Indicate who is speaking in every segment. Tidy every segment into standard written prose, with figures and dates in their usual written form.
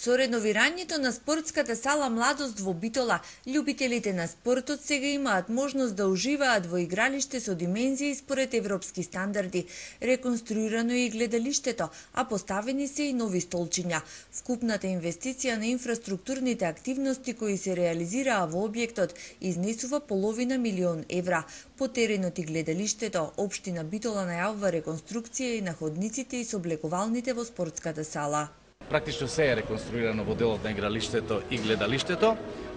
Speaker 1: Со реновирањето на спортската сала Младост во Битола, љубителите на спортот сега имаат можност да уживаат во игралиште со димензии според европски стандарди. Реконструирано е и гледалиштето, а поставени се и нови столчиња. Вкупната инвестиција на инфраструктурните активности кои се реализираа во објектот изнесува половина милион евра. По теренот и гледалиштето, општина Битола најавува реконструкција и на ходниците и соблегувалните во спортската сала.
Speaker 2: Практично се е реконструирано во делот на игралиштето и гледалиштето,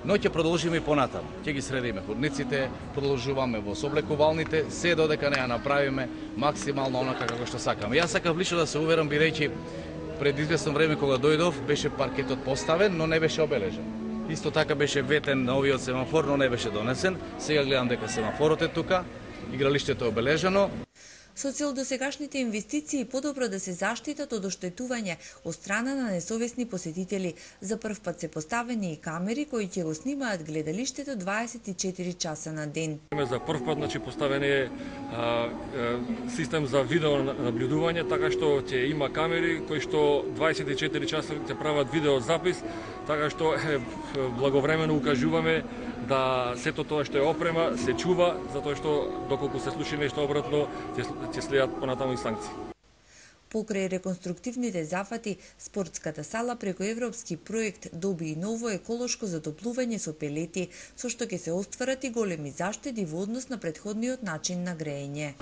Speaker 2: но ќе продолжиме и понатаму. Ќе ги средиме ходниците, продолжуваме во соблекувалните, се додека не ја направиме максимално онака како што сакаме. Јас сакав лично да се уверам, бидејќи пред известно време кога дојдов беше паркетот поставен, но не беше обележен. Исто така беше ветен новиот семафор, но не беше донесен. Сега гледам дека семафорот е тука, игралиштето е обележено.
Speaker 1: Со цел досегашните инвестиции подобро да се заштитат од оштетување од страна на несовесни посетители. За прв пат се поставени и камери кои ќе го снимаат гледалиштето 24 часа на ден.
Speaker 3: За прв пат поставен е систем за видео наблюдување, така што ќе има камери кои што 24 часа ќе прават видео запис, така што благовремено укажуваме да сето тоа што е опрема се чува, затоа што доколку се случи нешто обратно ќе следат понатаму и санкции.
Speaker 1: Покрај реконструктивните зафати, спортската сала преку европски проект доби и ново еколошко затоплување со пелети, со што ќе се остварат и големи заштеди во однос на претходниот начин на грејење.